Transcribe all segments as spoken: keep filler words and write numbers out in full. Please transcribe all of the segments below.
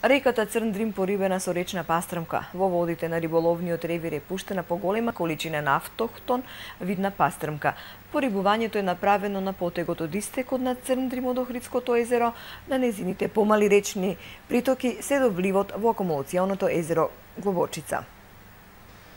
Реката Црн Дрим порибена со речна пастрмка. Во водите на риболовниот ревир е пуштена поголема количина на автохтон видна пастрмка. Порибувањето е направено на потегот од истекот на Црн Дрим од Охридското езеро, на незините помали речни притоки се до вливот во акумулационото езеро Глобочица.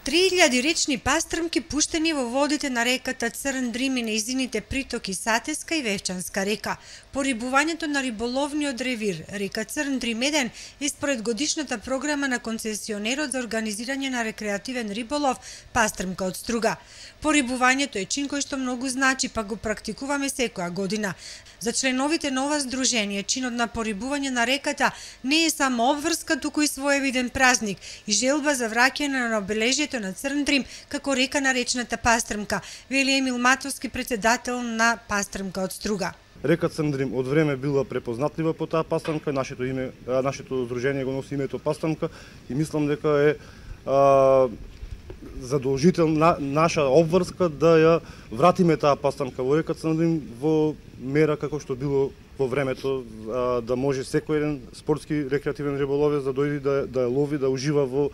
три илјади речни пастрмки пуштени во водите на реката Црн Дрим и нејзините притоки Сатеска и Вевчанска река. Порибувањето на риболовниот ревир река Црн Дрим еден е според годишната програма на концесионерот за организирање на рекреативен риболов пастрмка од струга. Порибувањето е чин кој што многу значи, па го практикуваме секоја година. За членовите на ова здружение, чинот на порибување на реката не е само обврска, туку и своевиден празник и желба за враќање на обележјето на Црн Дрим како река на речната пастрмка, вели Емил Матовски, председател на пастрмка од струга. Река Црн Дрим од време била препознатлива по таа пастрмка, нашето име, нашето здружение го носи името пастрмка и мислам дека е а, задолжителна наша обврска да ја вратиме таа пастрмка во река Црн Дрим во мера како што било во времето, а, да може секој еден спортски рекреативен риболовец да дојде да, да лови, да ужива во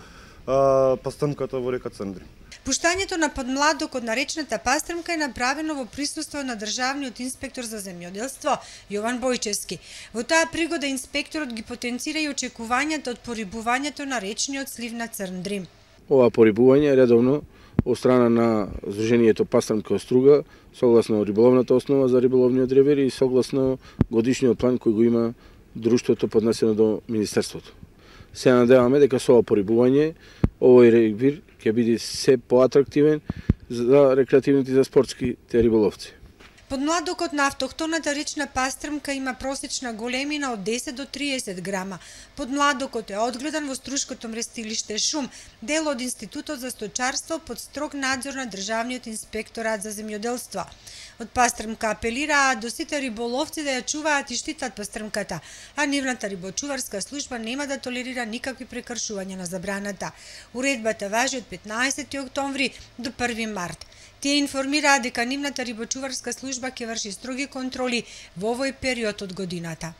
а, пастрмката во река Црн Дрим. Пуштањето на подмладокот на речната пастрмка е направено во присуство на државниот инспектор за земјоделство Јован Бојчевски. Во таа пригода инспекторот ги потенцира и очекувањата од порибувањето на речниот слив на Црн Дрим. Ова порибување е редовно од страна на Здруженијето Пастрмка од струга, согласно риболовната основа за риболовниот ревир и согласно годишниот план кој го има друштвото поднесено до Министерството. Се надеваме дека со ова порибување овој ревир ќе биде се поатрактивен за рекреативните и за спортските риболовци. Подмладокот на автохтоната речна пастрмка има просечна големина од десет до триесет грама. Подмладокот е одгледан во Струшкото мрестилиште Шум, дел од Институтот за сточарство под строг надзор на Државниот инспекторат за земјоделство. Од пастрмка апелираат до сите риболовци да ја чуваат и штитат пастрмката, а нивната рибочуварска служба нема да толерира никакви прекршувања на забраната. Уредбата важи од петнаесети октомври до први март. Тие информираат дека нивната рибочуварска служба ќе врши строги контроли во овој период од годината.